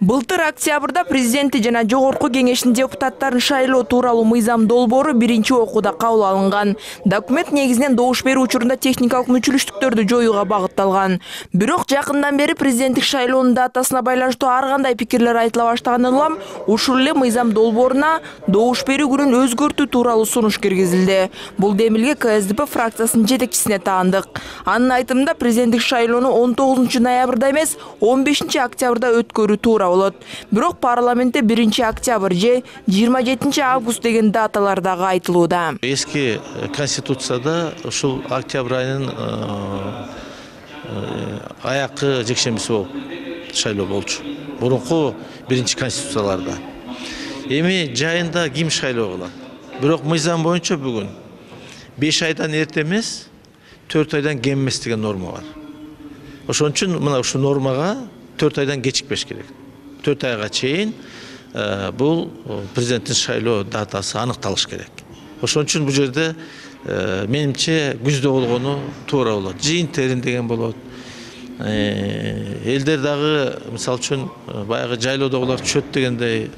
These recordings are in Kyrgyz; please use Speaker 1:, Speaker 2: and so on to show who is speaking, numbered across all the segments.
Speaker 1: Былтыр октябрда президенти жана жогорку кеңештин депутаттарын шайлоо тууралуу мыйзам долбоору биринчи окууда кабыл алынган. Документ негизинен добуш берүү учурунда техникалык мүчүлүштүктөрдү жоюуга багытталган. Бирок жакындан бери президенттик шайлоонун датасына байланыштуу ар кандай пикирлер айтыла баштагандан улам ушул эле мыйзам долбооруна добуш берүү күнүн өзгөртүү тууралуу сунуш киргизилди. Бул демилге КСДП фракциясынын жетекчисине таандык. Анын айтымында президенттик шайлоону 19 ноябрда эмес 15 октябрда өткөрүү туура болот. Бирок парламентте 1 октябрь же 27 август деген даталар дагы айтылууда.
Speaker 2: Эски конституцияда ушул октябрь айынын аякы жекшембиси болуп шайлоо болчу. Мурунку биринчи конституцияларда. Эми жайында ким шайлоо кылат? Бирок мыйзам боюнча бүгүн 5 айдан эрте эмес, 4 айдан кем эмес деген норма бар. Ошон үчүн мына ушул нормага 4 айдан кечикпеш керек. 4 айга чейин бул президенттин шайлоо датасы аныкталыш керек. Ошон үчүн бул жерде менимче күздө болгону туура болот. Жыйын терин деген болот. Элдер дагы мисалы үчүн баягы жайлоодогулар түшөт дегендей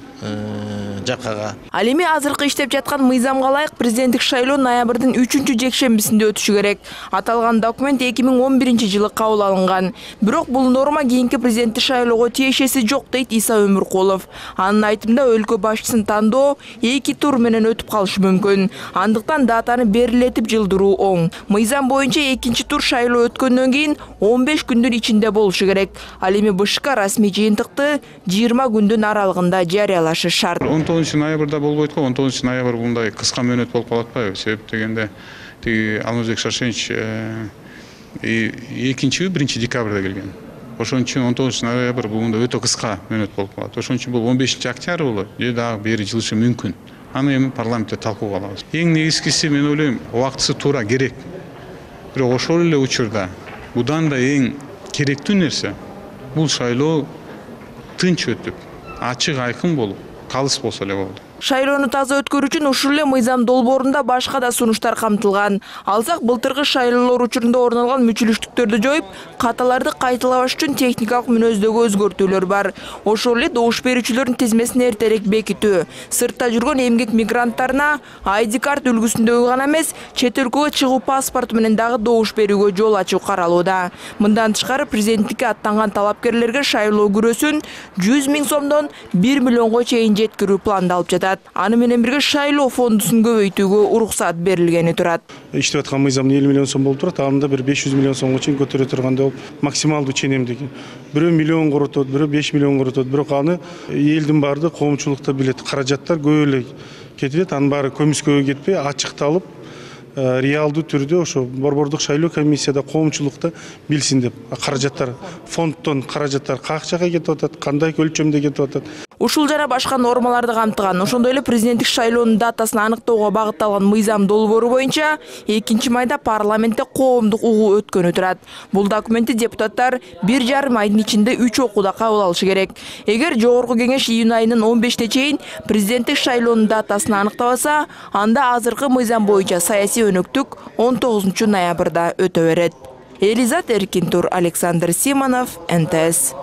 Speaker 2: жакага.
Speaker 1: Ал эми азыркы иштеп жаткан мыйзамга ылайык президенттик шайлоо ноябрдын 3-жекшембисинде өтүшү керек. Аталган документ 2011-жылы кабыл алынган. Бирок бул норма кийинки президенттик шайлоого тиешеси жок дейт Иса Өмүркулов. Анын айтымында өлкө башчысын тандоо 2 тур менен өтүп калышы мүмкүн. Андыктан датаны берилетип жылдыруу оң. Мыйзам боюнча 2 тур шайлоо өткөндөн кийин 15 күндүн ичинде болушу керек. Ал эми БШК расмий жыйынтыкты 20 күндүн аралыгында жарыялашы шарт.
Speaker 3: 19 ноябрда болбойт го. 19 ноябрь мындай кыска мөөнөт болуп калат атпайбы? Себеп дегенде Алмазбек Шаршенович 1 декабрда келген. Ошон үчүн 19 ноябрь бул өтө кыска мөөнөт болуп калат. Ошон үчүн бул 15 октябрь болот. Же дагы бери жылышы мүмкүн. Аны эми парламентте талкууга алабыз. Эң негизгиси мен ойлойм, убактысы туура керек. Бирок ошол эле учурда будан да эң керектүү нерсе бул шайлоо тынч өтүп, ачык айкын болуп, калыс болсо эле болду.
Speaker 1: Шайлоону таза өткөрүү үчүн ушул эле мыйзам долбоорунда башка да сунуштар камтылган. Алсак, былтыркы шайлоолор учурунда орун алган мүчүлүштүктөрдү жоюп, каталарды кайталабаш үчүн техникалык мүнөздөгү өзгөртүүлөр бар. Ошол эле добуш берүүчүлөрдүн тизмесин эртерээк бекитүү, сыртта жүргөн эмгек мигранттарына ID карт үлгүсүндөгү гана эмес, чет өлкөгө чыгуу паспорту менен дагы добуш берүүгө жол ачуу каралууда. Мындан тышкары президенттикке аттанган талапкерлерге шайлоо күрөсүн 100 000 сомдон 1 миллионго чейин жеткирүү пландалып жатат. Аны менен бирге шайлоо фондусун көбөйтүүгө уруксат берилгени турат.
Speaker 4: Иштеп аткан мыйзам 50 миллион сом болуп турат, анда бир 500 миллион сомго чейин көтөрө тургандай болуп, максималдуу ченемдиги. Бирөө миллион коротот, бирөө 5 миллион коротот, бирок аны элдин баары коомчулукта билет. Каражаттар көп эле кетет, анын баары көмүскөгө кетпей, ачыкталып, реалдуу түрдө ошо борбордук шайлоо комиссияда коомчулукта билсин деп. Каражаттар фонддон каражаттар кайсы жака кетип атат, кандай өлчөмдө кетип атат.
Speaker 1: Ушул жана башка нормаларды камтыган, ошондой эле президенттик шайлоонун датасын аныктоого багытталган мыйзам долбоору боюнча 2 майда парламентте коомдук угуу өткөнү турат. Бул документти депутаттар 1,5 айдын ичинде 3 окууда кабыл алышы керек. Эгер жогорку кеңеш июнь айынын 15-те чейин президенттик шайлоонун датасын аныктабаса, анда азыркы мыйзам боюнча саясий өнөктүк 19 ноябрда өтө берет. Элизат Эркинтур, Александр Симонов, НТС.